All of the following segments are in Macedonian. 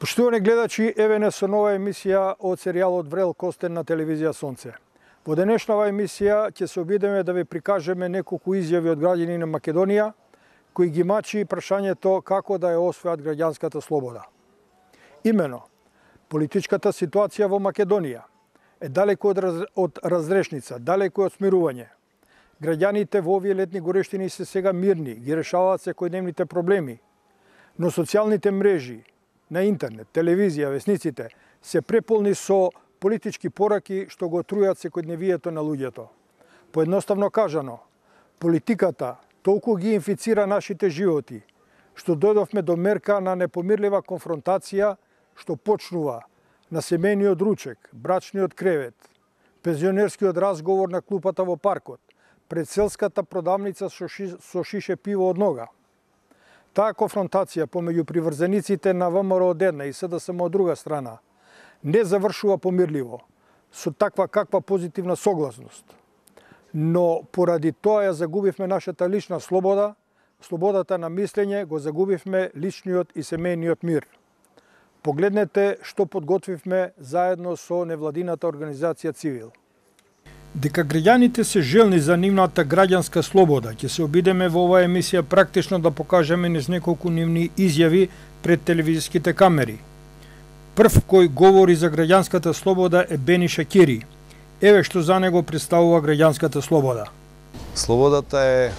Поштовани гледачи, еве не со нова емисија од серијалот Врел Костен на телевизија Сонце. Во денешнава емисија ќе се обидеме да ви прикажеме неколку изјави од граѓани на Македонија, кои ги мачи прашањето како да ја освојат граѓанската слобода. Имено, политичката ситуација во Македонија е далеку од разрешница, далеку од смирување. Граѓаните во овие летни горештини се сега мирни, ги решаваат секојдневните проблеми, но социјалните мрежи, на интернет, телевизија, весниците се преполни со политички пораки што го трујат секојдневието на луѓето. Поедноставно кажано, политиката толку ги инфицира нашите животи, што дојдовме до мерка на непомирлива конфронтација што почнува на семејниот ручек, брачниот кревет, пензионерскиот разговор на клупата во паркот, пред селската продавница со шише пиво од нога. Таа конфронтација помеѓу приврзениците на ВМРО од една и СДСМ од друга страна не завршува помирливо, со таква каква позитивна согласност. Но поради тоа ја загубивме нашата лична слобода, слободата на мислење, го загубивме личниот и семејниот мир. Погледнете што подготвивме заедно со невладината организација Цивил. Дека граѓаните се желни за нивната граѓанска слобода, ќе се обидеме во оваа емисија практично да покажеме низ неколку нивни изјави пред телевизиските камери. Прв кој говори за граѓанската слобода е Бени Шакири. Еве што за него представува граѓанската слобода. Слободата е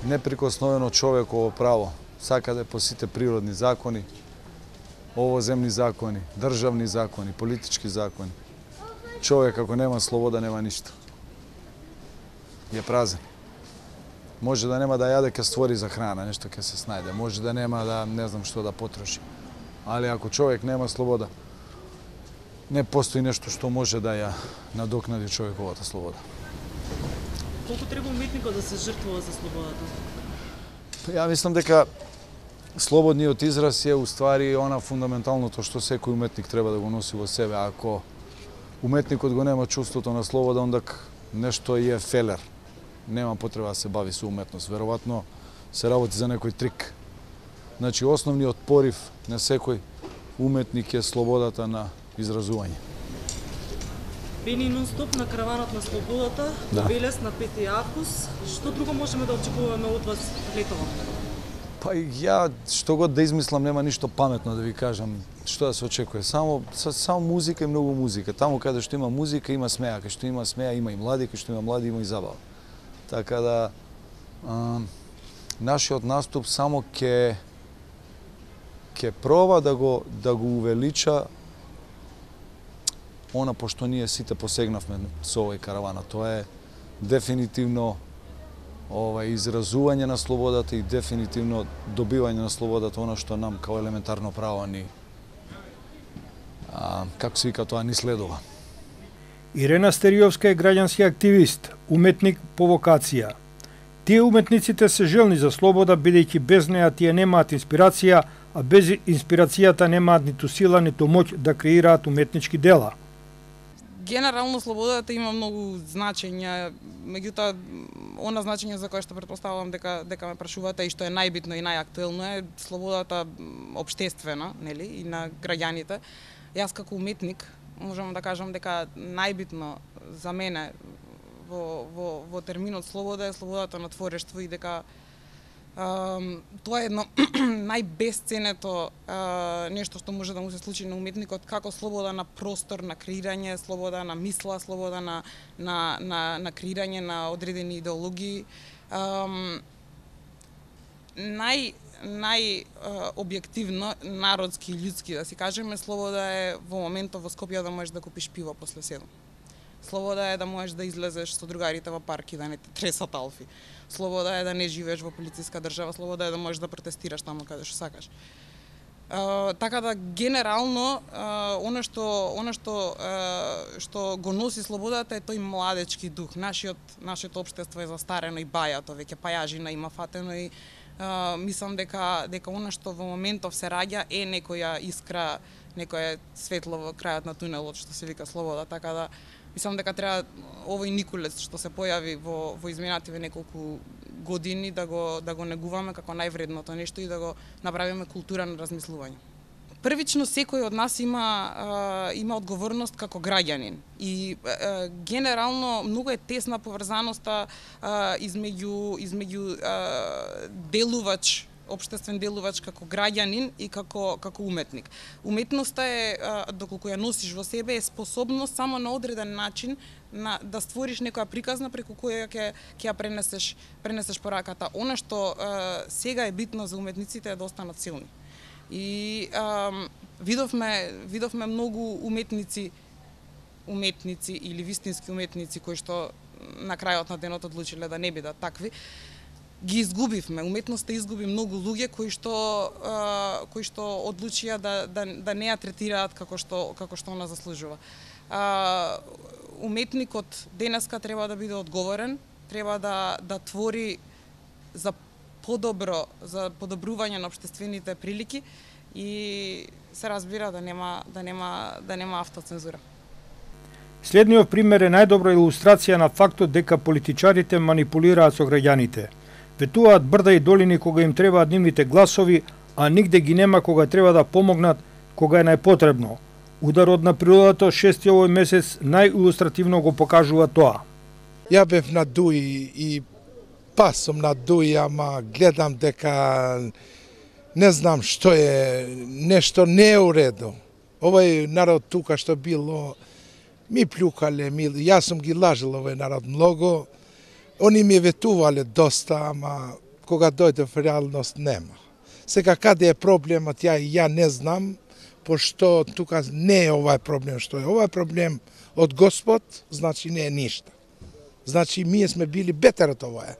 неприкосновено човеково право, сакаде по сите природни закони, овоземни закони, државни закони, политички закони. Човек ако нема слобода нема ништо. Е празен. Може да нема да јаде, ќе створи за храна, нешто ќе се снајде. Може да нема да не знам што да потроши. Али ако човек нема слобода, не постои нешто што може да ја надокнади човековата слобода. Колку треба уметникот да се жртвува за слободата? Ја мислам дека слободниот израз е уствари она фундаменталното што секој уметник треба да го носи во себе. Ако уметникот го нема чувството на слобода, ондак нешто е фелер. Нема потреба да се бави со уметност. Веројатно се работи за некој трик. Значи, основниот порив на секој уметник е слободата на изразување. Бени нон-стоп на караванот на слободата, да. Велес на 5 август. Што друго можеме да очекуваме од вас летово? Па ја што год да измислам нема ништо паметно да ви кажам што да се очекува. Само музика и многу музика. Таму каде што има музика има смеа, каде што има смеа има и млади, каде што има млади има и забава. Така да нашиот наступ само ќе проба да го увелича она по што ние сите посегнавме со овој каравана. Тоа е дефинитивно изразување на слободата и дефинитивно добивање на слободата, она што нам као елементарно право ни како се вика тоа ни следува. Ирена Стериовска е граѓански активист, уметник по вокација. Тие уметниците се желни за слобода, бидејќи без неа тие немаат инспирација, а без инспирацијата немаат ниту сила, ниту моќ да креираат уметнички дела. Генерално слободата има многу значења, меѓутоа она значење за кое што претпоставувам дека ме прашувате и што е најбитно и најактуелно е слободата општествена, нели, и на граѓаните. Јас како уметник можам да кажам дека најбитно за мене во терминот слобода е слободата на творештво и дека тоа е едно најбесценето нешто што може да му се случи на уметникот, како слобода на простор, на креирање, слобода на мисла, слобода на креирање на одредени идеологии. Најобјективно, народски и људски, да си кажеме, слобода е во моментот во Скопје да можеш да купиш пиво после 7. Слобода е да можеш да излезеш со другарите во парк и да не те тресат алфи. Слобода е да не живееш во полициска држава, слобода е да можеш да протестираш таму каде што сакаш. Така да генерално она што го носи слободата е тој младечки дух. Нашето општество е застарено и бајато, веќе пајажина има фатено и мислам дека она што во моментов се раѓа е некоја искра, некое светло во крајот на тунелот што се вика слобода, така да мислам дека треба овој никулец што се појави во изминативе неколку години да го негуваме како највредното нешто и да го направиме култура на размислување. Првично секој од нас има одговорност како граѓанин и генерално многу е тесна поврзаноста измеѓу делувач, општествен делувач како граѓанин и како уметник. Уметноста е, доколку ја носиш во себе, е способност само на одреден начин да створиш некоја приказна преку која ќе ја пренесеш пораката. Она што сега е битно за уметниците е да останат силни. И видовме многу уметници или вистински уметници кои што на крајот на денот одлучиле да не бидат такви. Ги изгубивме. Уметноста изгуби многу луѓе кои што одлучија да не ја третираат како што она заслужува. Уметникот денеска треба да биде одговорен, треба да твори за подобрување на општествените прилики и се разбира да нема автоцензура. Следниот пример е најдобра илустрација на фактот дека политичарите манипулираат со граѓаните. Ветуваат брда и долини кога им требаат нивните гласови, а нигде ги нема кога треба да помогнат кога е најпотребно. Ударот на природата 6 овој месец најилустративно го покажува тоа. Ја бев на Дуи и пас сум на Дуи, ама гледам дека не знам што е, нешто не е уредо. Овој народ тука што било, ми плюкале, јас сум ги лажил овој народ многу, они ми ветувале доста, ама кога дојде в реалност нема. Сега каде е проблемот, ја не знам, пошто тука не е овај проблем што е. Овај проблем од Господ, значи не е ништа. Значи ние сме били бетер од овај.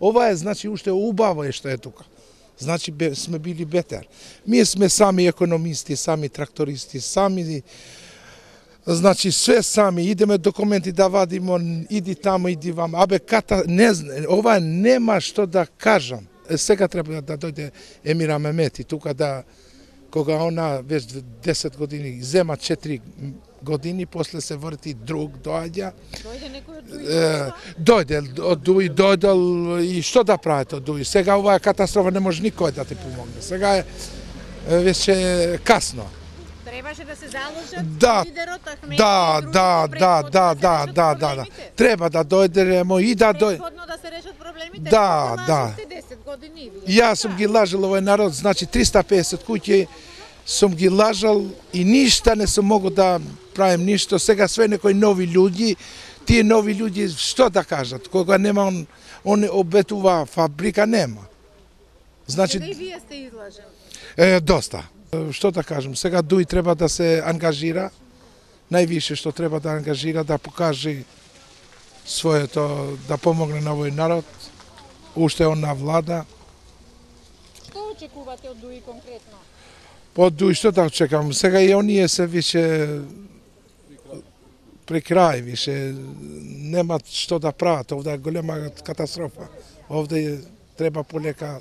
Ова е, значи, уште убаво е што е тука. Значи, сме били бетер. Ние сме сами економисти, сами трактористи, сами, значи, све сами. Идеме документи да вадимо, иди тамо, иди вамо. Абе, ова нема што да кажам. Сега треба да дојде Емира Мемети, тука да, кога она веќе 10 години, зема 4 години, после се врти друг, доаѓа. Дојде некој од Дуи? Дојде од Дуи, дојдел и што да правите од Дуи? Сега оваа катастрофа не може никој да ти помогне. Сега е веќе касно. Требаше да се заложат лидерот Ахмети да. Треба да дојдемо и да дојде. Предходно да се решат проблемите. Да. 10 години. Јас сум ги лажал овој народ, значи 350 куќи сум ги лажал и ништа не сум могол да правим ништо. Сега све некои нови луѓи, тие нови луѓи што да кажат? Кога нема он обетува фабрика, нема. Значи и вие сте излажени. Доста. Што да кажем, сега Дуи треба да се ангажира, највише што треба да ангажира, да покаже своето, да помогне на овој народ, уште он на влада. Што очекувате од Дуи конкретно? Од Дуи што да очекам, сега и оние се више при крај, више немат што да прават, овде е голема катастрофа. Овде треба полека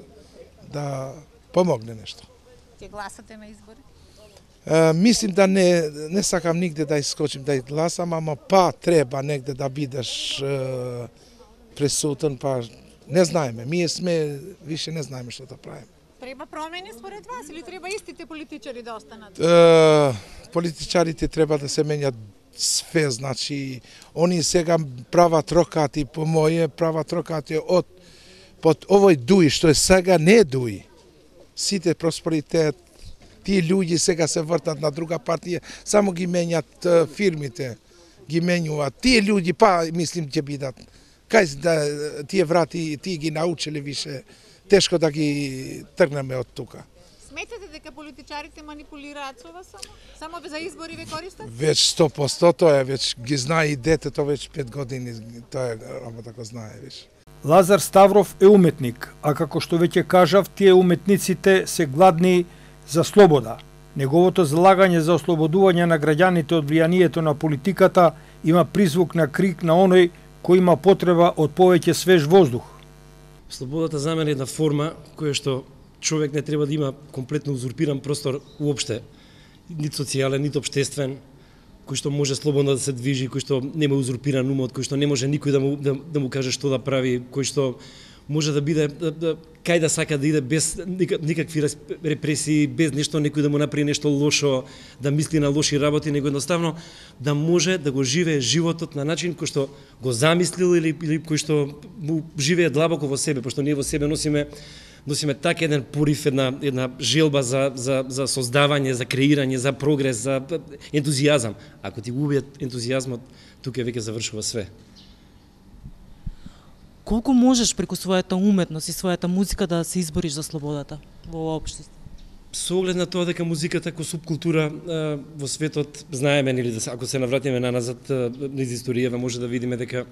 да помогне нешто. Ќе гласате на избори? Мислим да не сакам нигде да искочим да гласам, ама треба негде да бидеш присутен, не знаеме. Ние сме, више не знаеме што да правиме. Треба промени според вас или треба истите политичари да останат? Политичарите треба да се менјат све, значи, они сега прават рокати, по моје прават рокати под овој Дуи, што е сега не е Дуи. Сите просперитет, тие луѓе сега се вртат на друга партија, само ги менјат фирмите, ги менјуваат. Тие луѓе, мислим, ќе бидат. Кај да тие врати, тие ги научиле више, тешко да ги тргнеме од тука. Сметате дека политичарите манипулираат со вас само? Само за избори ве користат? Веќе 100%, тоа е, веќе ги знае и детето, веќе 5 години, тоа е работа го знае више. Лазар Ставров е уметник, а како што веќе кажав, тие уметниците се гладни за слобода. Неговото залагање за ослободување на граѓаните од влијанието на политиката има призвук на крик на оној кој има потреба од повеќе свеж воздух. Слободата за мене е една форма која што човек не треба да има комплетно узурпиран простор уопште, нит социјален, нит општествен, кој што може слободно да се движи, кој што нема узурпиран умот, кој што не може никој да му каже што да прави, кој што може да биде кај да сака да иде без никакви репресии, без нешто некој да му направи нешто лошо, да мисли на лоши работи, него едноставно да може да го живее животот на начин кој што го замислил или кој што му живее длабоко во себе, пошто ние во себе носиме така еден порив, една желба за создавање, за креирање, за прогрес, за ентузијазам. Ако ти го убијат ентузијазмот, тука веќе завршува све. Колку можеш преку својата уметност и својата музика да се избориш за слободата во општество? Со оглед на тоа дека музиката како субкултура во светот, знаеме, нели, ако се навратиме наназад низ историјава, може да видиме дека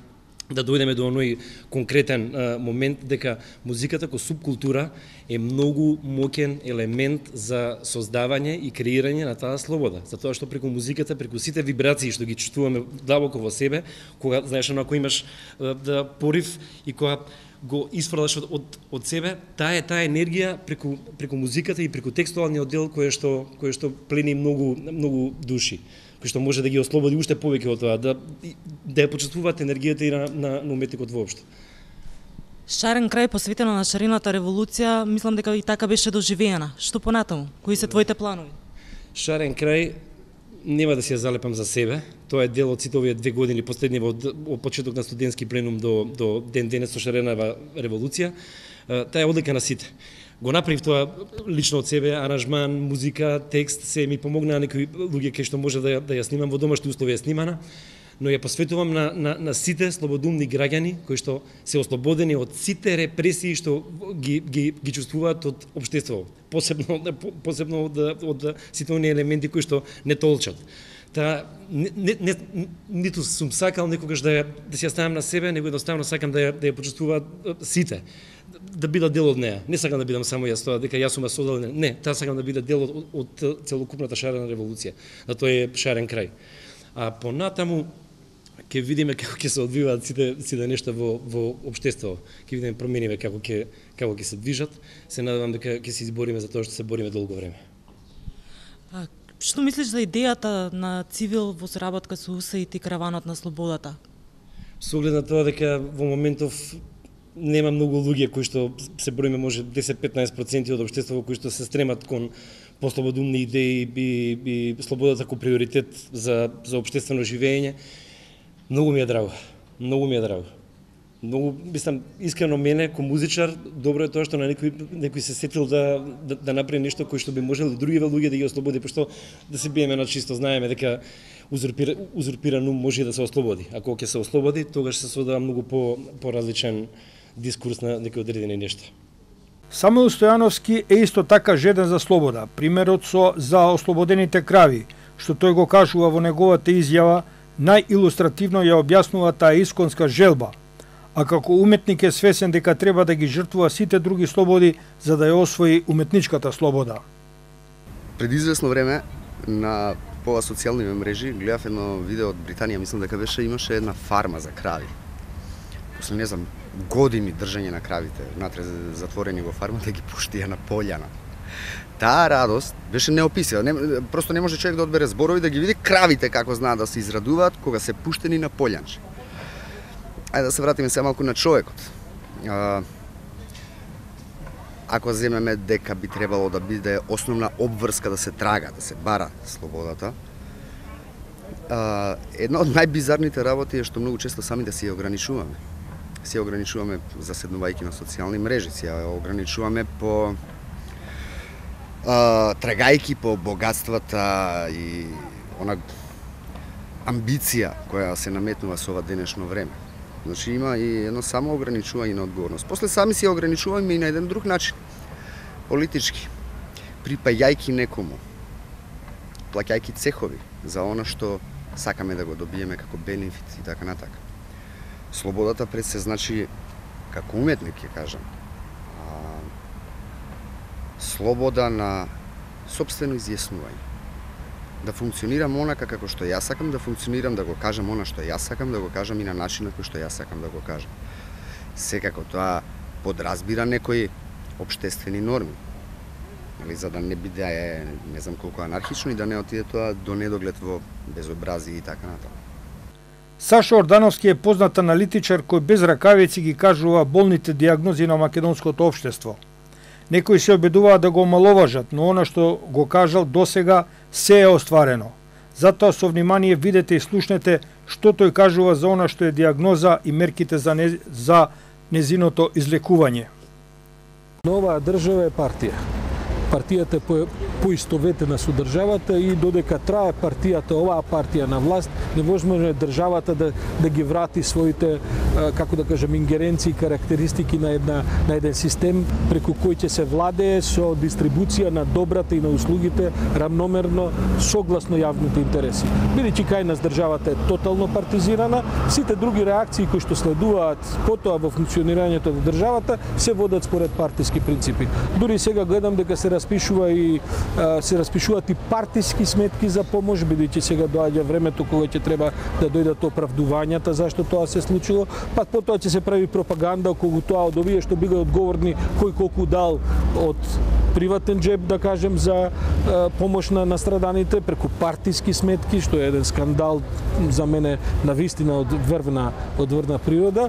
да дојдеме до оној конкретен момент дека музиката како субкултура е многу моќен елемент за создавање и креирање на таа слобода. Затоа што преку музиката, преку сите вибрации што ги чувствуваме длабоко во себе, кога, знаеш, ако имаш да порив и кога го исфрлаш од себе, таа енергија преку музиката и преку текстуалниот дел кој што плени многу души, кој што може да ги ослободи уште повеќе од тоа, да ја почувствуваат енергијата и на уметникот воопшто. Шарен крај посветено на шарената револуција, мислам дека и така беше доживеена. Што понатаму? Кои се твоите планови? Шарен крај нема да си ја залепам за себе. Тоа е дел од сите овие 2 години последни од почеток на студентски пленум до ден денес со шарената револуција. Таа е одлика на сите. Го направив тоа лично од себе, аранжман, музика, текст, се ми помогнаа некои луѓе кај што може да ја снимам во домашни услови е снимана, но ја посветувам на сите слободумни граѓани кои што се ослободени од сите репресии што ги чувствуваат од општеството, посебно од сите оние елементи кои што не толчат. Ниту сум сакал некогаш да си ја ставам на себе, него едноставно сакам да ја почувствуваат сите, да бидат дел од неа. Не сакам да бидам само јас тоа, дека јас сум ја создал, не, таа сакам да биде дел од целокупната шарена револуција. Да тој е шарен крај. А понатаму ќе видиме како ќе се одвиваат сите нешта во општеството. Ќе видиме промениве како ќе се движат. Се надевам дека ќе се избориме за тоа што се бориме долго време. Што мислиш за идејата на Цивил во соработка со УСАИД и Караванот на слободата? Со оглед на тоа дека во моментов нема многу луѓе кои што се броиме може 10-15% од општеството кои што се стремат кон послободумни идеи и слободата како приоритет за општествено живење, многу ми е драго. Многу, мислам, искрено мене, ко музичар, добро е тоа што на некој се сетил да направи нешто кој што би можел други луѓе да ги ослободи, пошто да се биеме на чисто, знаеме дека узурпиран ум може да се ослободи. Ако ќе се ослободи, тогаш се создава многу поразличен дискурс на некои одредени нешта. Самуил Стојановски е исто така жеден за слобода. Примерот за ослободените крави, што тој го кажува во неговата изјава, најилустративно ја објаснува таа исконска желба, а како уметник е свесен дека треба да ги жртвува сите други слободи за да ја освои уметничката слобода. Пред извесно време на пова социјални мрежи гледав едно видео од Британија, мислам дека имаше една фарма за крави. После не знам години држање на кравите, внатре затворени во фармата, ги пуштија на пољана. Таа радост беше неописива. Просто не може човек да одбере зборови да ги види кравите како знаат да се израдуваат кога се пуштени на полјанче. Ајде да се вратиме се малку на човекот. Ако земеме дека би требало да биде основна обврска да се трага, да се бара слободата, една од најбизарните работи е што многу често сами да си ја ограничуваме. Си ја ограничуваме заседнувајќи на социјални мрежи, си ја ограничуваме по трагајки по богатствата и она амбиција која се наметнува со ова денешно време. Значи има и едно само ограничување на одговорност. После сами си ја ограничуваме и на еден друг начин, политички, припајајки некому, плаќајки цехови за она што сакаме да го добиеме како бенефит и така натака. Слободата пред се значи, како уметник ќе кажам, слобода на сопствено изјаснување. Да функционирам онака како што јас сакам да функционирам, да го кажам она што јас сакам да го кажам и на начин на кој што јас сакам да го кажам. Секако тоа подразбира некои општествени норми. За да не биде не знам колку анархично и да не отиде тоа до недоглед во безобразие и така натаму. Саша Ордановски е познат аналитичар кој без ракавици ги кажува болните диагнози на македонското општество. Некои се обидуваат да го омаловажат, но она што го кажал досега се е остварено. Затоа со внимание видете и слушнете што тој кажува за она што е диагноза и мерките за незиното излекување. Оваа држава е партија. Партијата е поистоветена со државата и додека трае партијата, оваа партија на власт, невозможно е државата да ги врати своите, како да кажем, ингеренции и карактеристики на еден систем преку кој ќе се владее со дистрибуција на добрата и на услугите рамномерно согласно јавните интереси. Бидејќи кај нас државата е тотално партизирана, сите други реакции кои што следуваат потоа во функционирањето на државата се водат според партиски принципи. Дури сега гледам дека се распишуваат и партиски сметки за помош, бидејќи сега доаѓа времето кога ќе треба да дојдат оправдувањата зашто тоа се случило, па потоа ќе се прави пропаганда околу тоа од овие што биле одговорни кој колку дал од приватен джеб, да кажем, за помош на настраданите преку партиски сметки, што е еден скандал за мене навистина од врвна природа.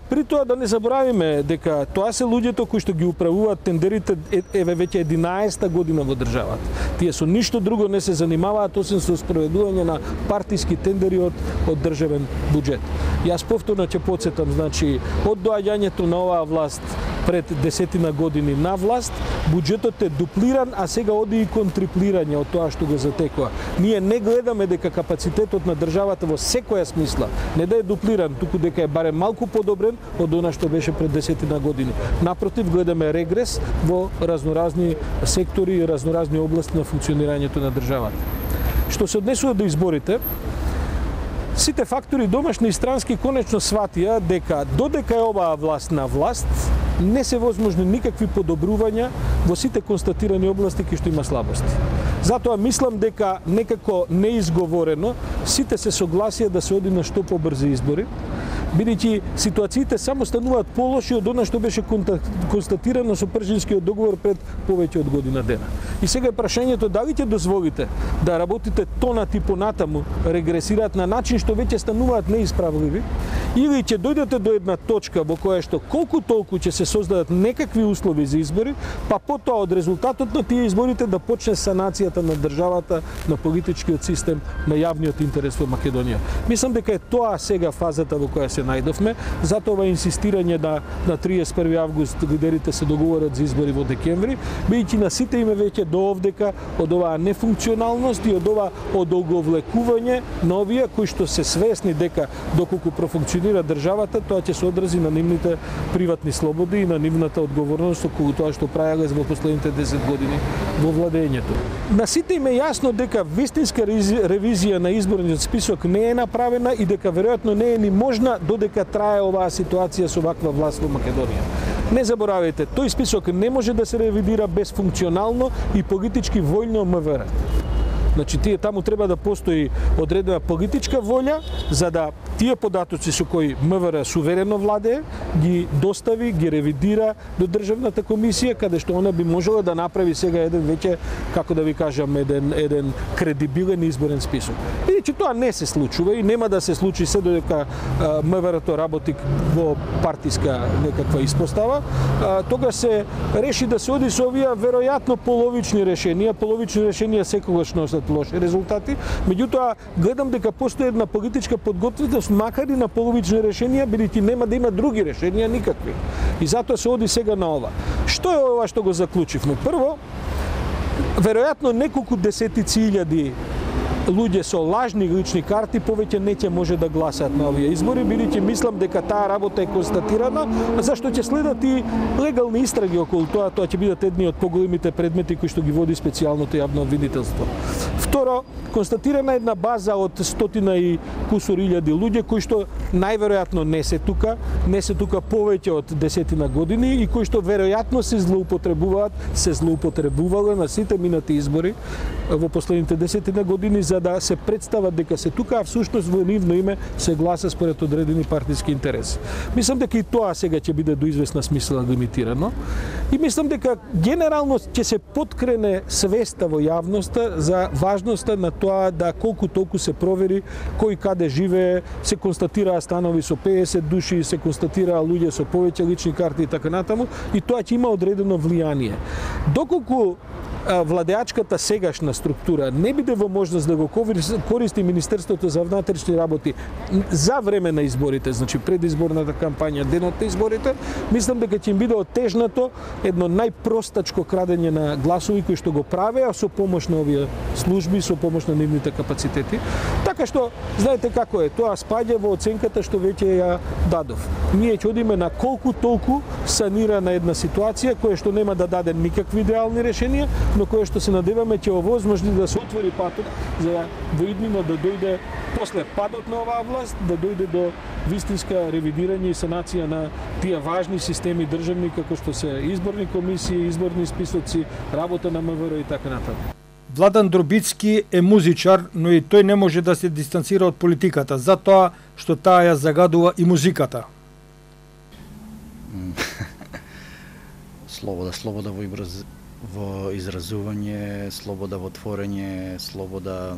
При тоа да не заборавиме дека тоа се луѓето кои што ги управуваат тендерите еве веќе 11-та година во државата. Тие со ништо друго не се занимаваат освен со спроведување на партиски тендери од државен буџет. Јас повторно ќе потсетам, значи, од доаѓањето на оваа власт пред 10 години на власт, буџетот е дуплиран, а сега оди и кон триплирање од тоа што го затекува. Ние не гледаме дека капацитетот на државата во секоја смисла не да е дуплиран, туку дека е барем малку подобрен од она што беше пред 10 години. Напротив, гледаме регрес во разноразни сектори и разноразни области на функционирањето на државата. Што се однесува до изборите, сите фактори домашни и странски конечно сватија дека додека е оваа власт на власт, не се возможни никакви подобрувања во сите констатирани области кои што има слабости. Затоа мислам дека некако неизговорено сите се согласија да се оди на што побрзи избори, бидејќи ситуациите само стануваат полоши од она што беше констатирано со Пршинскиот договор пред повеќе од година дена. И сега е прашањето дали ќе дозволите да работите тонат и понатаму регресираат на начин што веќе стануваат неисправливи, или ќе дојдете до една точка во која што колку толку ќе се создадат некакви услови за избори, па потоа од резултатот на тие изборите да почне санацијата на државата, на политичкиот систем, на јавниот интерес во Македонија. Мислам дека е тоа сега фазата во која се најдовме, затоа инсистирање на 31 август лидерите се договорат за избори во декември, бидејќи на сите име веќе до овдека од оваа нефункционалност и од ова одолговлекување на овие кои што се свесни дека доколку профункционира државата, тоа ќе се одрази на нивните приватни слободи и на нивната одговорност околу тоа што правеле во последните 10 години во владењето. На сите им е јасно дека вистинска ревизија на изборниот список не е направена и дека веројатно не е ни можна додека трае оваа ситуација со ваква власт во Македонија. Не заборавајте, тој список не може да се ревидира без функционално и политички војно МВР. Значи, таму треба да постои одредена политичка волја за да тие податоци со кои МВР суверено владее, ги достави, ги ревидира до Државната комисија, каде што она би можела да направи сега еден веќе, како да ви кажам, еден кредибилен изборен список. Бидејќи тоа не се случува и нема да се случи се додека МВР-то работи во партиска некаква испостава, тогаш се реши да се оди со овие веројатно половични решенија секогаш носат лоши резултати, меѓутоа гледам дека постои една политичка подготвеност макар и на половични решенија, бидејќи нема да има други решенија никакви. И затоа се оди сега на ова. Што е ова што го заклучивме? Прво, веројатно неколку десетици илјади луѓе со лажни лични карти повеќе не ќе може да гласаат на овие избори, бидејќи мислам дека таа работа е констатирана, зашто ќе следат и легални истраги околу тоа, тоа ќе бидат едни од поголемите предмети кои што ги води специјалното јавно обвинителство. Второ, констатирана една база од 100 и кусур илјади луѓе кои што најверојатно не се тука повеќе од 10 години и кои што веројатно се злоупотребувале на сите минати избори во последните 10 години за за да се представат дека се тука, а всушност во нивно име се гласа според одредени партиски интереси. Мислам дека и тоа сега ќе биде до известна смисла лимитирано и мислам дека генерално ќе се подкрене свеста во јавноста за важноста на тоа да колку толку се провери кој каде живее, се констатираа станови со 50 души, се констатираа луѓе со повеќе лични карти и така натаму, и тоа ќе има одредено влијание. Доколку владеачката сегашна структура не биде во можност да го користи Министерството за внатрешни работи за време на изборите, значи предизборната кампања, денот на изборите, мислам дека ќе им биде отежнато едно најпростачко крадење на гласови кои што го правеа со помош на овие служби, со помош на нивните капацитети. Така што, знаете како е, тоа спаѓа во оценката што веќе ја дадов. Ние ќе одиме на колку толку санирана една ситуација која што нема да даде никакви идеални решенија, но кое што се надеваме ќе овозможни да се отвори патот за во иднина да дојде после падот на оваа власт, да дојде до вистинска ревидирање и санација на тие важни системи државни како што се изборни комисии, изборни списоци, работа на МВР и така натаму. Владан Дробицки е музичар, но и тој не може да се дистанцира од политиката, затоа што таа ја загадува и музиката. Слобода во изразување, слобода во творење, слобода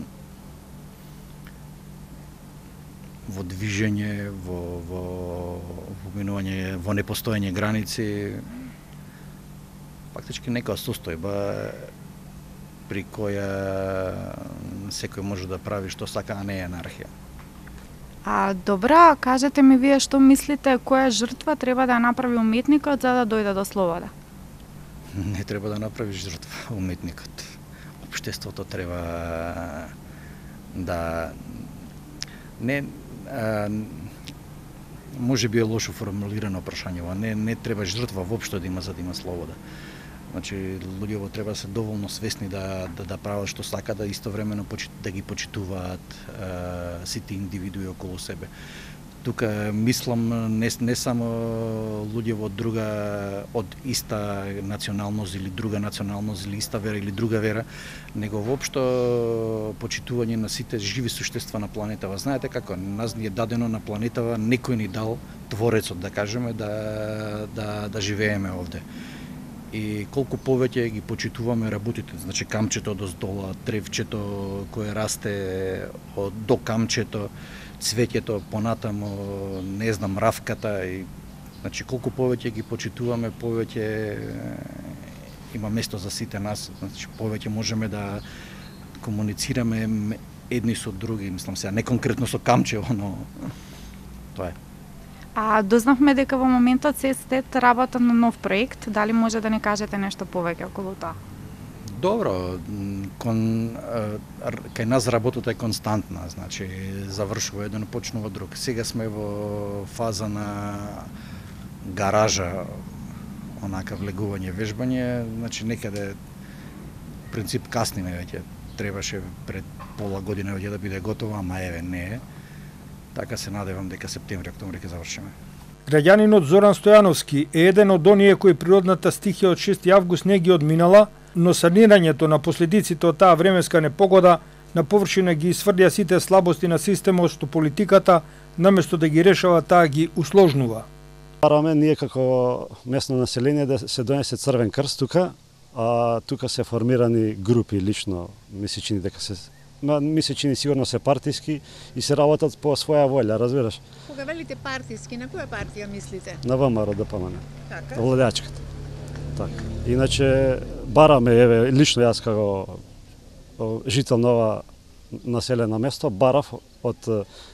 во движење, во минување, во непостоење граници, фактички некоја состојба при која секој може да прави што сака, а не е анархија. Добра, кажете ми вие што мислите, која жртва треба да направи уметникот за да дојде до слобода? Не треба да направи жртва уметникот. Општеството треба да може би е лошо формулирано прашањево, не треба жртва воопшто да има за да има слобода. Значи луѓето треба да се доволно свесни да прават што сакаат, да истовремено да ги почитуваат сите индивидуи околу себе. Тука мислам не само луѓе од иста националност или друга националност или иста вера или друга вера, него воопшто почитување на сите живи суштества на планетава. Знаете како, нас ни е дадено на планетава, некој ни дал, Творецот да кажеме, да живееме овде. И колку повеќе ги почитуваме работите, значи камчето доздола, древчето кое расте до камчето, цвеќето понатамо, не знам, равката, и значи колку повеќе ги почитуваме, повеќе има место за сите нас, значи повеќе можеме да комуницираме едни со други, мислам сега не конкретно со камчево, но тоа е. Дознавме дека во моментот се работат на нов проект, дали може да не кажете нешто повеќе околу тоа? Добро, кај нас работата е константна, значи завршува еден, почнува друг. Сега сме во фаза на гаража, онака влегување, вежбање, значи некаде принцип касниме веќе. Требаше пред пола година веќе да биде готова, ама еве не е. Така се надевам дека септември, октомври ќе завршиме. Граѓанинот Зоран Стојановски е еден од оние кои природната стихија од 6 август не ги одминала, но санирањето на последиците од таа временска непогода на површина ги сврдја сите слабости на системот што политиката, наместо да ги решава, таа ги усложнува. Бараме ние како местно население да се донесе Црвен крст тука, а тука се формирани групи лично, ми се чини сигурно се партиски и се работат по своја волја, разбираш? Кога велите партиски, на која партија мислите? На ВМРО ДПМН. Така? Владеачката. Така. Иначе бараме, еве, лично јас како жител на ова населено место, барав од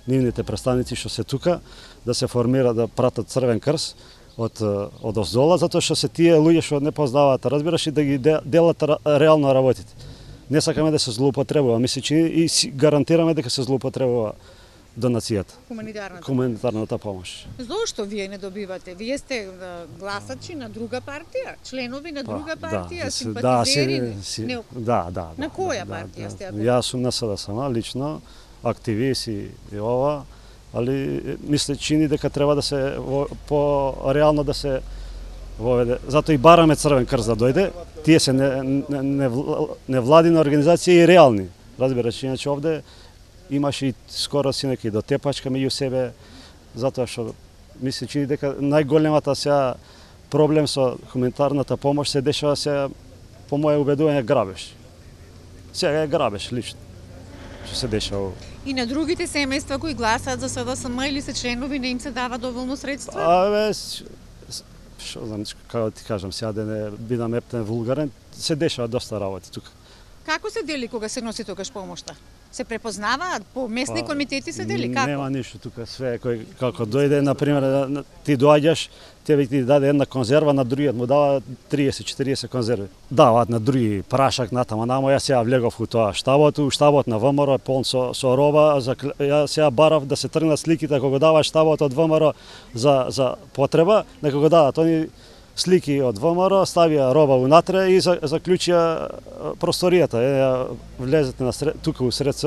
нивните представници што се тука да се формира, да пратат Црвен крст од оздола, затоа што се тие луѓе што не познаваат, разбираш, и да ги делат реално работите. Не сакаме да се злоупотребува, ми се чини и гарантираме дека се злоупотребува донацијата. Хуманитарната помош. Зошто вие не добивате? Вие сте гласачи на друга партија, членови на друга партија, симпатизери? Да. На која партија сте? Јас сум на СДСМ, лично, активист и ова, али мисле чини дека треба да се по-реално да се воведе. Затоа и бараме Црвен крст да дојде. Тие се невладина организација и реални. Разбираш, иначе овде имаше и скоро синеки до тепачка меѓу себе, затоа што ми се чини дека најголемата сега проблем со хуманитарната помош се дешава сега, по моје убедување, грабеж. Сега е грабеж лично што се дешава. И на другите семејства кои гласаат за СДСМ или се членови, не им се дава доволно средства? Што знам, како ти кажам, сега да не бидам ептен вулгарен, се дешава доста работи тука. Како се дели кога се носи тогаш помошта? Се препознаваат по местни комитети се дели како? Нема ништо тука, све кој како дојде, на пример, ти доаѓаш, тебе ти даде една конзерва, на другиот му дава 30-40 конзерви. Даваат на други прашак натама, намо јас сега влегов у тоа штабот на ВМРО полн со роба, ја сега барав да се тргнат сликите кога дава штабот од ВМРО за потреба, нека го дадат они слики од ВМРО, ставија роба унатре и заклучија просторијата. Влезете на тука усред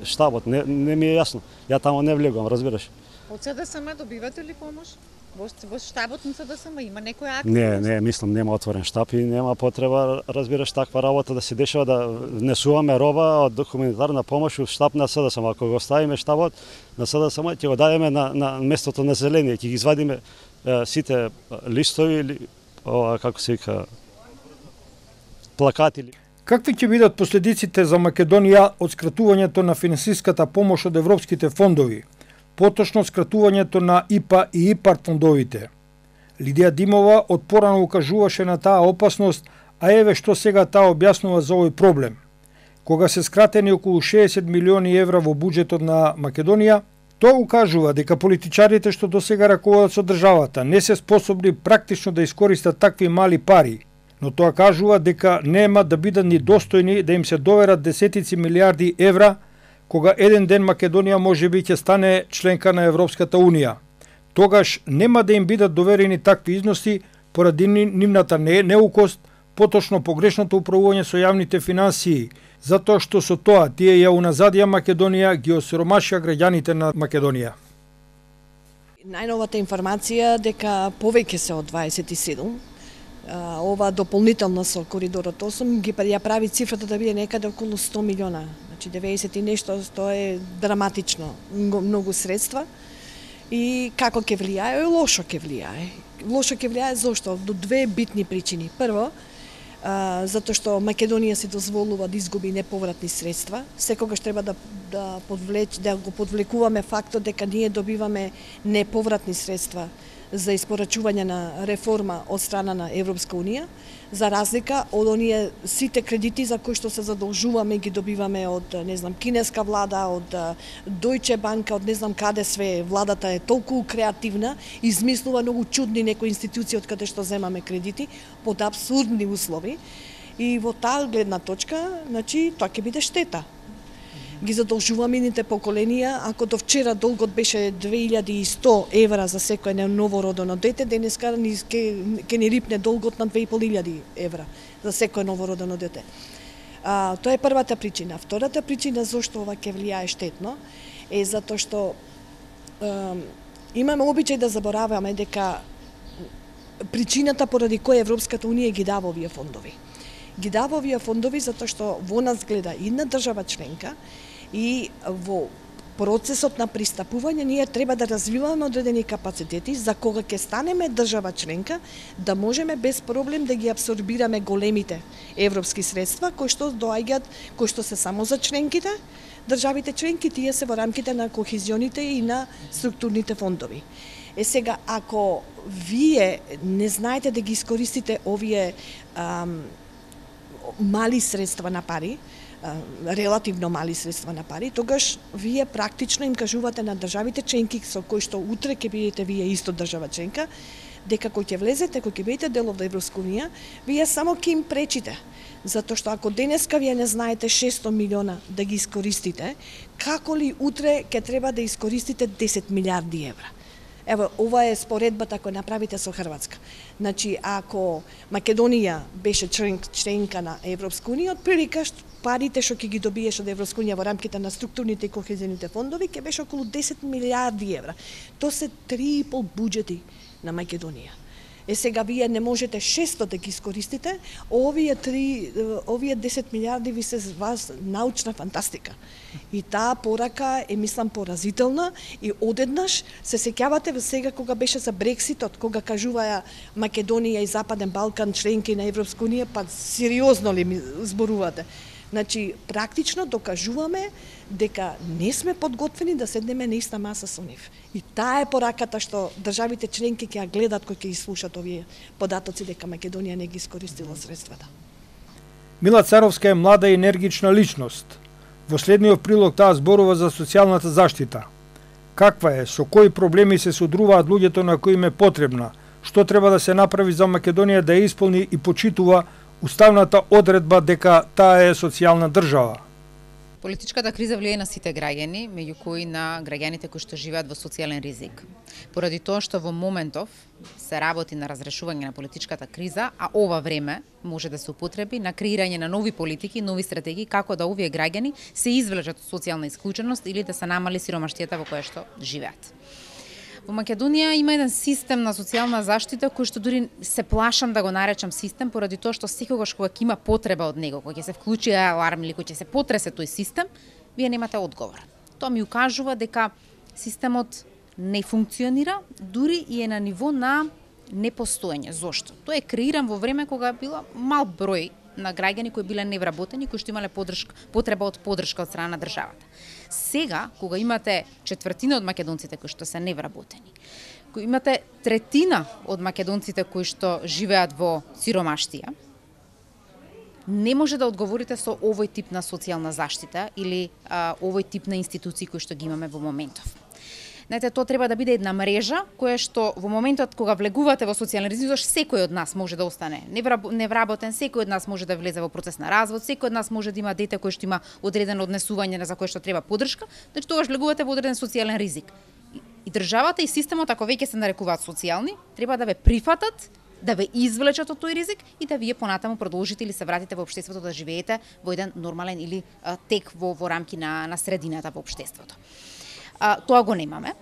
штабот, не ми е јасно. Ја тамо не влегувам, разбираш. Од СДСМ добивате ли помош? Во штабот на СДСМ има некоја акција? Не, мислам нема отворен штаб и нема потреба, разбираш, таква работа да се дешава, да внесуваме роба од хуманитарна помош у штаб на СДСМ. Ако го ставиме штабот на СДСМ, ќе го дадеме на местото на зеление, ќе ги извадиме сите листови или како се вика плакати. Какви ќе бидат последиците за Македонија од скратувањето на финансиската помош од европските фондови, поточно скратувањето на ИПА и ИПАР фондовите? Лидија Димова од порано укажуваше на таа опасност, а еве што сега таа објаснува за овој проблем. Кога се скратени околу 60 милиони евра во буџетот на Македонија, тоа укажува дека политичарите што досега раководат со државата не се способни практично да искористат такви мали пари, но тоа кажува дека нема да бидат ни достојни да им се доверат десетици милиарди евра, кога еден ден Македонија можеби ќе стане членка на Европската Унија. Тогаш нема да им бидат доверени такви износи поради нивната неукост, поточно погрешното управување со јавните финансии, затоа што со тоа тие ја уназадија Македонија, ги осиромашија граѓаните на Македонија. Најновата информација дека повеќе се од 27, ова дополнително со коридорот 8 ги ја прави цифрата да биде некаде околу 100 милиона. Значи 90 и нешто, тоа е драматично, многу средства. И како ќе влијае? Лошо ќе влијае. Лошо ќе влијае зошто? До две битни причини. Прво, затоа што Македонија се дозволува да изгуби неповратни средства. Секогаш треба да го подвлекуваме фактот дека ние добиваме неповратни средства за испорачување на реформа од страна на Европска Унија, за разлика од оние сите кредити за кои што се задолжуваме ги добиваме од, не знам, кинеска влада, од Deutsche Bank, од не знам каде све. Владата е толку креативна, измислува многу чудни некои институции од каде што земаме кредити под апсурдни услови. И во таа гледна точка, значи, тоа ќе биде штета. Ги задолжуваме ините поколенија, ако до вчера долгот беше 2100 евра за секој новородено дете, денеска ќе ни рипне долгот на 2500 евра за секој новородено дете. Тоа е првата причина. Втората причина зашто ова ќе влијае штетно е затоа што имаме обичај да забораваме дека причината поради која Европската Унија ги дава овие фондови. Ги дава овие фондови затоа што во нас гледа една држава членка и во процесот на пристапување ние треба да развиваме одредени капацитети за кога ќе станеме држава членка да можеме без проблем да ги апсорбираме големите европски средства кои што доаѓаат, кои што се само за членките, државите членки, тие се во рамките на кохезионите и на структурните фондови. Сега, ако вие не знаете да ги искористите овие мали средства на пари, релативно мали средства на пари, тогаш вие практично им кажувате на државите членки со кои што утре ќе бидете вие исто држава членка, дека кој ќе влезете, кој ќе бидете дел од Европска Унија, вие само ќе им пречите. Затоа што ако денеска вие не знаете 600 милиона да ги искористите, како ли утре ќе треба да искористите 10 милиарди евра? Ево, ова е споредбата која направите со Хрватска. Значи, ако Македонија беше членка на Европска Унија, од прилика парите што ќе ги добиеш од Европска Унија во рамките на структурните и кохезионите фондови ќе беше околу 10 милиарди евра. Тоа се 3,5 буџети на Македонија. сега вие не можете 600 да ги искористите, овие 10 милиарди ви се вас научна фантастика. И таа порака е, мислам, поразителна и одеднаш се сеќавате сега кога беше за Брекситот, кога кажуваја Македонија и Западен Балкан членки на Европска унија, па сериозно ли ми зборувате? Значи, практично докажуваме дека не сме подготвени да седнеме на иста маса со нив. И таа е пораката што државите членки ќе ја гледат кои ќе слушат овие податоци дека Македонија не ги искористила средствата. Мила Царовска е млада и енергична личност. Во следниот прилог таа зборува за социјалната заштита. Каква е, со кои проблеми се содруваат луѓето на кои им е потребна, што треба да се направи за Македонија да ја исполни и почитува уставната одредба дека таа е социјална држава. Политичката криза влијае на сите граѓани, меѓу кои на граѓаните кои што живеат во социјален ризик. Поради тоа што во моментов се работи на разрешување на политичката криза, а ова време може да се употреби на креирање на нови политики, нови стратегии како да овие граѓани се извлечат од социјална исклученост или да се намали сиромаштијата во која што живеат. Во Македонија има еден систем на социјална заштита кој што дури се плашам да го наречам систем поради тоа што секогаш кога ќе има потреба од него, кога ќе се вклучи аларм или кога ќе се потресе тој систем, вие немате одговор. Тоа ми укажува дека системот не функционира, дури и е на ниво на непостоење. Зошто? Тоа е креиран во време кога била мал број на граѓани кои биле невработени, кои што имале потреба од поддршка од страна на државата. Сега, кога имате четвртина од македонците кои што се невработени, кога имате третина од македонците кои што живеат во сиромаштија, не може да одговорите со овој тип на социјална заштита или овој тип на институции кои што ги имаме во моментов. Знаете, тоа треба да биде една мрежа која што во моментот кога влегувате во социјален ризик, секој од нас може да остане невработен, секој од нас може да влезе во процес на развод, секој од нас може да има дете кој што има одредено однесување за кое што треба поддршка, значи тогаш влегувате во одреден социјален ризик. И државата и системот, ако веќе се нарекуваат социјални, треба да ве прифатат, да ве извлечат од тој ризик и да вие понатаму продолжите или се вратите во општеството да живеете во еден нормален или тек во рамки на средината во општеството. Тоа го немаме.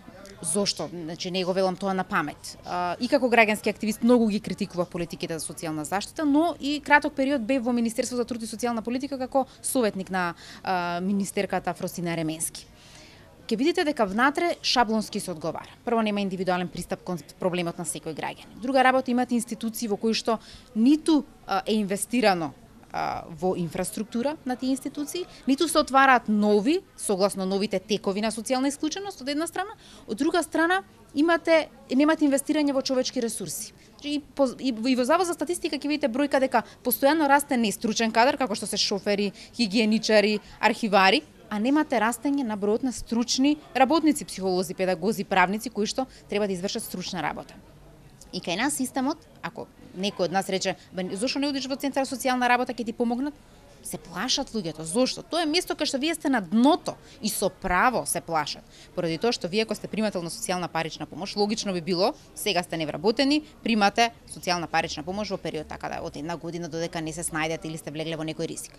Зошто? Значи, не го велам тоа на памет. И како граѓански активист многу ги критикував политиките за социјална заштита, но и краток период бев во Министерството за труд и социјална политика како советник на министерката Фросина Ременски. Ке видите дека внатре шаблонски се одговара. Прво, нема индивидуален пристап кон проблемот на секој граѓанин. Друга работа, имате институции во кои што ниту е инвестирано во инфраструктура на тие институции, ниту се отвараат нови, согласно новите текови на социјална исклученост од една страна, од друга страна немате инвестирање во човечки ресурси. И во Завод за статистика ќе видите бројка дека постојано расте нестручен кадар, како што се шофери, хигиеничари, архивари, а немате растење на бројот на стручни работници, психолози, педагози, правници кои што треба да извршат стручна работа. И кај нас системот, ако некој од нас рече, зошто не одиш во центар за социјална работа, ќе ти помогнат? Се плашат луѓето. Зошто? Тоа е место кај што вие сте на дното и со право се плашат. Поради тоа што вие ако сте примател на социјална парична помош, логично би било, сега сте невработени, примате социјална парична помош во период така да од една година додека не се снајдете или сте влегле во некој ризик.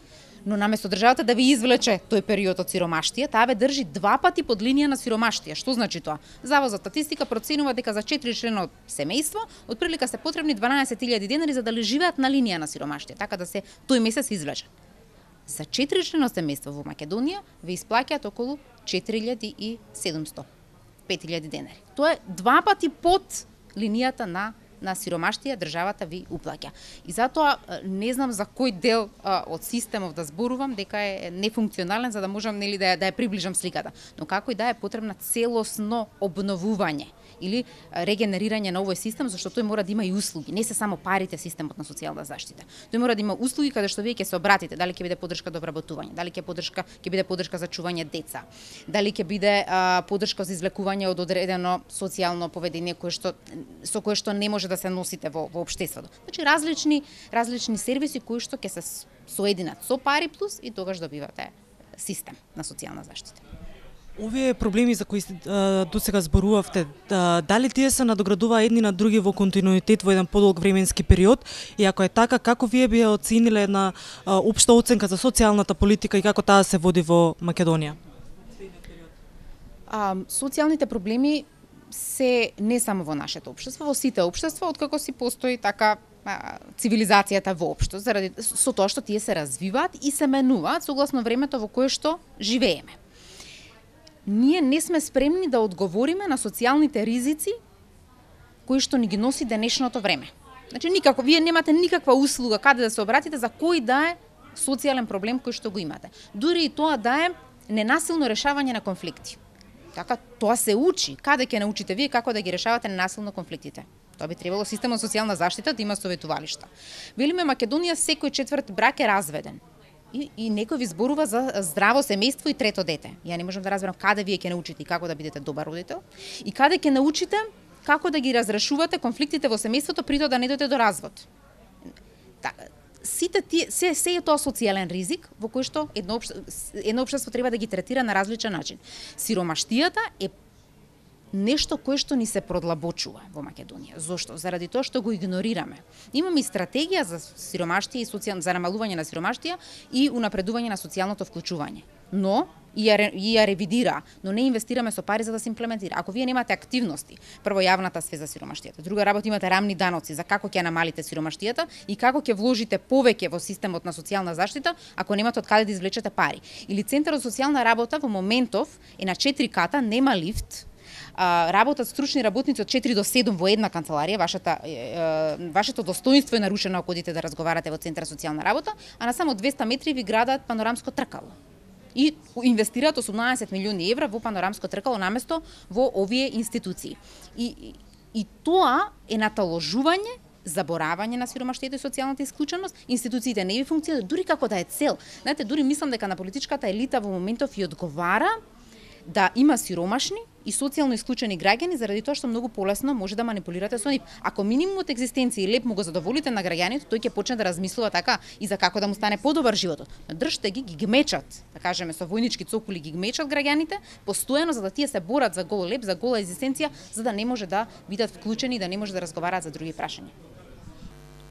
Но наместо државата да ви извлече тој период од сиромаштија, таа ве држи 2 пати под линија на сиромаштија. Што значи тоа? Завод за статистика проценува дека за 4-члено семејство отприлика се потребни 12.000 денари за да живеат на линија на сиромаштија, така да се тој месец извлечат. За 4-члено семејство во Македонија ве исплаќаат околу 4.700, 5.000 денари. Тоа е 2 пати под линијата на сиромаштија државата ви уплаќа. И затоа не знам за кој дел од системов да зборувам дека е нефункционален за да можам нели да ја приближам сликата, но како и да е потребна целосно обновување или регенерирање на овој систем, зашто тој мора да има и услуги, не се само парите системот на социјална заштита. Тој мора да има услуги каде што вие ќе се обратите, дали ќе биде поддршка до вработување, дали ќе биде поддршка за чување деца, дали ќе биде поддршка за извлекување од одредено социјално поведение со кое што не може да се носите во општеството. Значи различни сервиси кои што ќе се соединат со пари плюс и тогаш добивате систем на социјална заштита. Овие проблеми за кои досега зборувавте, дали тие се надоградува едни на други во континуитет во еден подолг временски период и ако е така, како вие би оцениле една општа оценка за социјалната политика и како таа се води во Македонија? Социјалните проблеми се не само во нашето општество, во сите општества, откако си постои така цивилизацијата воопшто, заради со тоа што тие се развиваат и се менуваат согласно времето во кое што живееме. Ние не сме спремни да одговориме на социјалните ризици кои што ни ги носи денешното време. Значи никако, вие немате никаква услуга каде да се обратите за кој да е социјален проблем кој што го имате. Дури и тоа да е ненасилно решавање на конфликти. Така, тоа се учи. Каде ќе научите вие како да ги решавате ненасилно конфликтите? Тоа би требало системот социјална заштита да има советувалишта. Велиме Македонија секој четврт брак е разведен. И некој ви зборува за здраво семејство и трето дете. Ја не можам да разберам каде вие ќе научите и како да бидете добар родител и каде ќе научите како да ги разрешувате конфликтите во семејството при тоа да не дојдете до развод. Сите тие се е тоа социјален ризик во кој што едно општество треба да ги третира на различен начин. Сиромаштијата е нешто кое што ни се продлабочува во Македонија. Зошто? Заради тоа што го игнорираме. Имаме и стратегија за сиромаштија и за намалување на сиромаштија и унапредување на социјалното вклучување. Но и ја ревидира, но не инвестираме со пари за да се имплементира. Ако вие немате активности, прво јавната свест за сиромаштијата, друга работа имате рамни даноци за како ќе намалите сиромаштијата и како ќе вложите повеќе во системот на социјална заштита, ако немате од каде да извлечете пари. Или Центарот за социјална работа во моментов е на 4 ката, нема лифт, работат стручни работници од 4 до 7 во една канцеларија, вашето достоинство е нарушено ако одите да разговарате во Центар за социјална работа, а на само 200 метри ви градат панорамско тркало. И инвестираат 18 милиони евра во панорамско тркало наместо во овие институции. И тоа е наталожување, заборавање на сиромаштието и социјалната исклученост, институциите не ви функционираат, дури како да е цел. Знаете, дури мислам дека на политичката елита во моментов и одговара да има сиромашни и социјално исклучени граѓани заради тоа што многу полесно може да манипулирате со нив. Ако минимумот екзистенција и леп му го задоволите на граѓаните, тој ќе почне да размислува така и за како да му стане подобар животот. Држте ги гмечат, да кажеме со војнички цокули ги гмечат граѓаните постојано за да тие се борат за гол леп, за гола екзистенција, за да не може да бидат вклучени и да не може да разговараат за други прашања.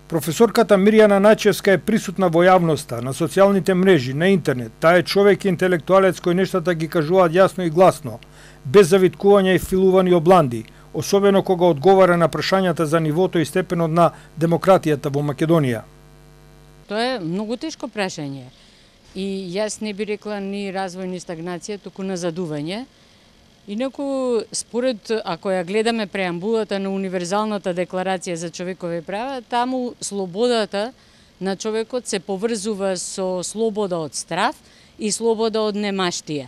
Професорката Мирјана Најчевска е присутна во јавноста, на социјалните мрежи, на интернет. Таа е човек и интелектуалец кој нештата ги кажуваат јасно и гласно, без завиткувања и филувани обланди, особено кога одговара на прашањата за нивото и степенот на демократијата во Македонија. Тоа е многу тешко прашање. И јас не би рекла ни развој ни стагнација, туку назадување. Инаку, според, ако ја гледаме преамбулата на Универзалната декларација за човекови права, таму слободата на човекот се поврзува со слобода од страв и слобода од немаштија.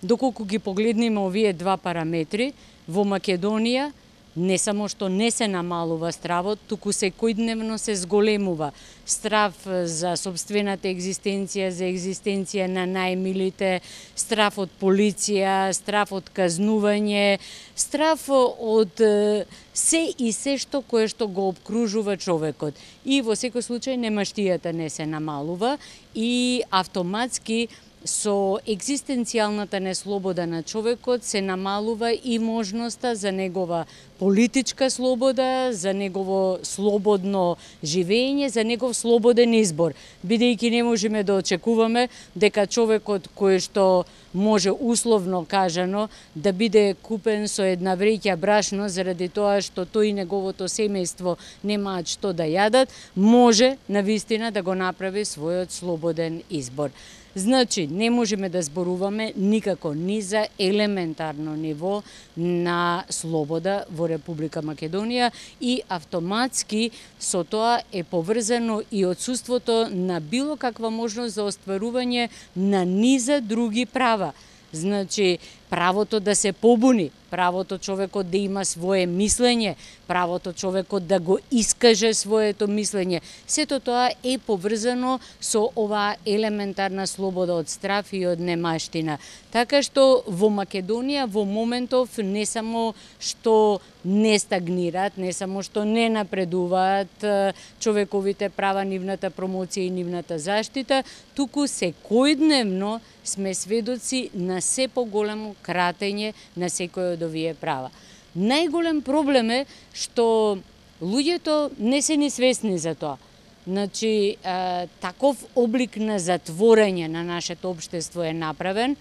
Доколку ги погледнеме овие два параметри, во Македонија не само што не се намалува стравот, туку секојдневно се зголемува страв за собствената екзистенција, за екзистенција на најмилите, страв од полиција, страв од казнување, страв од се и се кое што го обкружува човекот. И во секој случај немаштијата не се намалува и автоматски со екзистенцијалната неслобода на човекот се намалува и можноста за негова политичка слобода, за негово слободно живење, за негов слободен избор, бидејќи не можеме да очекуваме дека човекот кој што може условно кажано да биде купен со една вреќа брашно заради тоа што тој и неговото семејство немаат што да јадат, може навистина да го направи својот слободен избор. Значи, не можеме да зборуваме никако ни за елементарно ниво на слобода во Република Македонија и автоматски со тоа е поврзано и отсуството на било каква можност за остварување на низа други права. Значи, правото да се побуни, правото човекот да има свое мислење, правото човекот да го искаже своето мислење. Сето тоа е поврзано со оваа елементарна слобода од страв и од немаштина. Така што во Македонија во моментов не само што не стагнираат, не само што не напредуваат човековите права, нивната промоција и нивната заштита, туку секојдневно сме сведоци на се поголемо кратење на секој од овие права. Најголем проблем е што луѓето не се ни свесни за тоа. Значи, таков облик на затворење на нашето општество е направен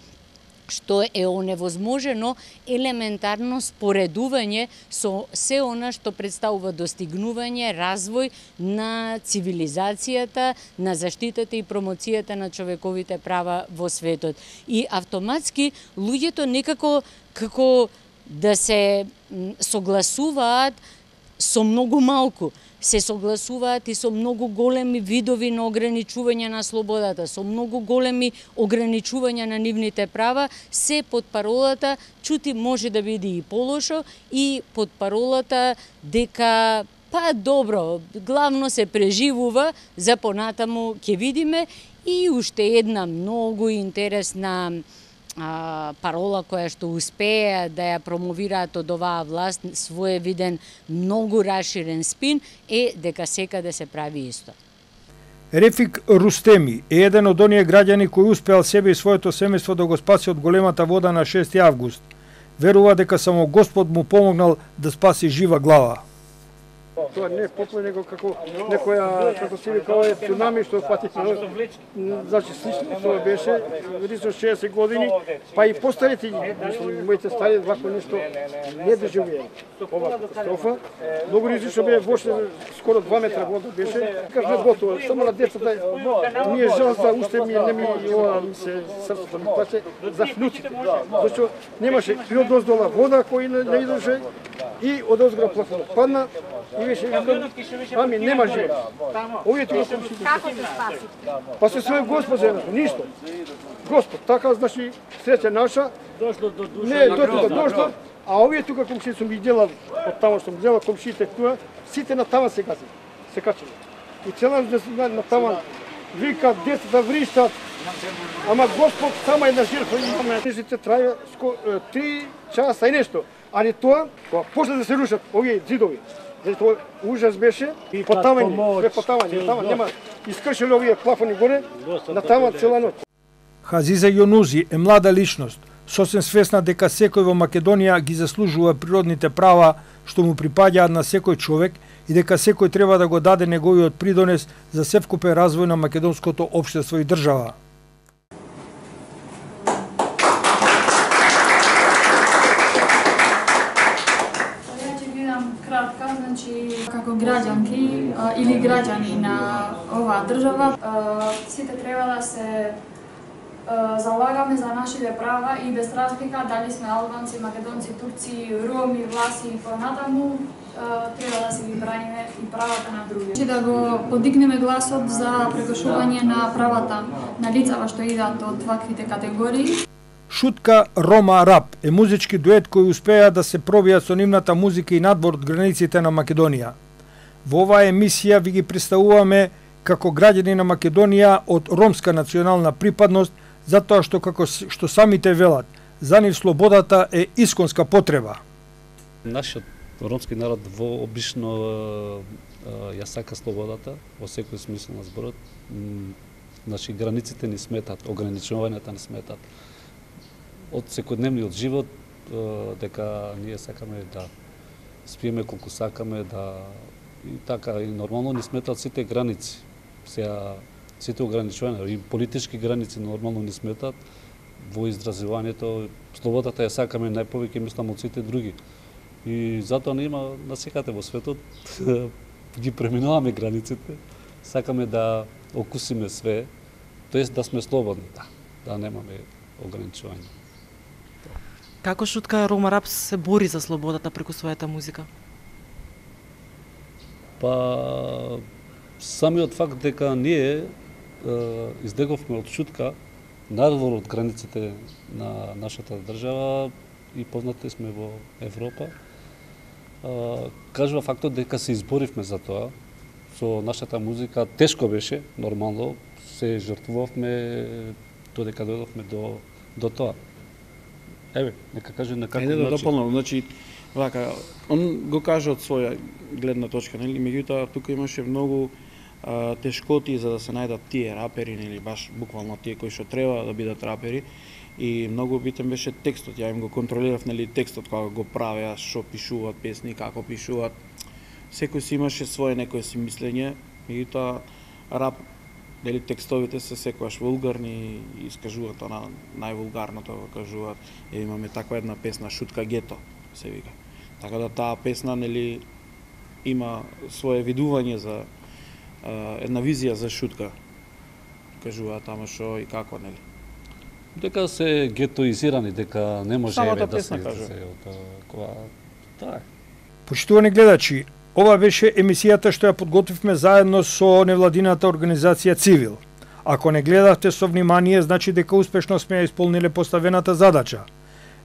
што е оневозможено елементарно споредување со се она што представува достигнување, развој на цивилизацијата, на заштитата и промоцијата на човековите права во светот. И автоматски луѓето некако како да се согласуваат со многу малку, се согласуваат и со многу големи видови на ограничување на слободата, со многу големи ограничувања на нивните права, се под паролата чути може да биде и полошо и под паролата дека па добро, главно се преживува, за понатаму ќе видиме. И уште една многу интересна парола која што успее да ја промовираат од оваа власт, своевиден, многу расширен спин, е дека секаде се прави исто. Рефик Рустеми е еден од оние граѓани кои успеал себе и своето семејство да го спаси од големата вода на 6 август. Верува дека само Господ му помогнал да спаси жива глава. Тоа не е поплав, него како некоја, како се вика, ова е цунами што фати, значи слично тоа беше, ризно 60 години, па и постарите, моите стари, вако нешто не доживеа. Ова катастрофа, многу ризично бе, воше скоро 2 метра вода беше, кажа готово, само на децата, ние жал за уште не ми ова ми се срцето ми плаче за внуците, зашто немаше и од оздола вода кој не идеше и од озгора плафонот падна. И веше викам, ами нема живот. Овие тука комшите. Како се спаси? Па се свој Господ земе, ништо. Господ, така значи среќа наша. Дошло до душа. Не, до тука дошло, а овие тука комшите сум ги делал, од тамо што гледал комшите тука, сите на тама се гази. Се качени. И цела на тама вика, децата вриштат. Ама Господ сама една жртва имаме. Нешите трае 3 часа и нешто. Али тоа, кога после да се рушат овие зидови, затоа ужас беше и потавање, потавање, нема искршили овие плафони горе, на тама цела ноќ. Хазиза Јонузи е млада личност, сосем свесна дека секој во Македонија ги заслужува природните права што му припаѓаат на секој човек и дека секој треба да го даде неговиот придонес за севкупен развој на македонското општество и држава. Како граѓанки или граѓани на оваа држава, сите треба да се залагаме за нашите права и без разлика дали сме албанци, македонци, турци, роми, власи и понатаму, треба да се ги браниме и правата на други. Да го подигнеме гласот за прекошување на правата на лицава што идат од ваквите категории. Шутка Рома Рап е музички дует кој успеа да се пробијат со нивната музика и надвор од границите на Македонија. Во оваа емисија ви ги представуваме како граѓани на Македонија од ромска национална припадност, затоа што како што самите велат, за нив слободата е исконска потреба. Нашиот ромски народ во обично ја сака слободата во секој смисол на зборот. Значи границите ни сметат, ограничувањата ни сметат. Од секојдневниот живот, дека ние сакаме да спиеме колку сакаме, да и така и нормално ни сметат сите граници. Сега сите ограничувања и политички граници нормално ни сметат во изразувањето. Слободата ја сакаме најповеќе, мислам, од сите други. И затоа не има насекате во светот ги преминуваме границите, сакаме да окусиме све, тоест да сме слободни, да немаме ограничувања. Како Шутка Рома Рап се бори за слободата преку својата музика? Па самиот факт дека ние излеговме од Шутка надвор од границите на нашата држава и познати сме во Европа, кажува фактот дека се изборивме за тоа. Со нашата музика тешко беше, нормално, се жртвувавме додека дојдовме до тоа. Еве, нека каже на каков начин. Да дополнам, значи, вака, он го каже од своја гледна точка, нели, меѓутоа тука имаше многу тешкоти за да се најдат тие рапери, нели, баш буквално тие кои што треба да бидат рапери, и многу битен беше текстот. Ја им го контролирав, нели, текстот кога го правеа, што пишуваат песни, како пишуваат. Секој си имаше свое некое си мислење, меѓутоа рап дали текстовите се секогаш вулгарни и искажуваат она највулгарното, го кажуваат. Имаме таква една песна Шутка гето се вика. Така да таа песна нели има свое видување за една визија за шутка. Кажуваат тamo што и како нели. Дека се гетоизирани, дека не може да се така. Почитувани гледачи, ова беше емисијата што ја подготвивме заедно со невладината организација Цивил. Ако не гледавте со внимание, значи дека успешно сме ја исполниле поставената задача.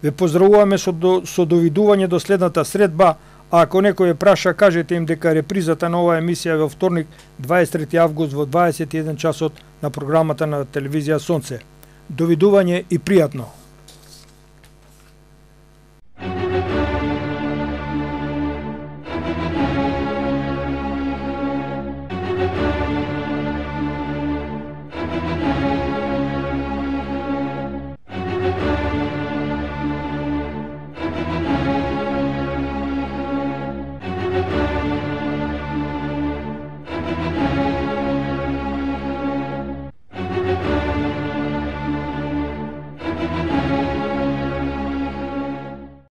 Ве поздравуваме со довидување до следната средба, а ако некој праша, кажете им дека репризата на оваа емисија во вторник, 23 август во 21 часот на програмата на телевизија Сонце. Довидување и пријатно!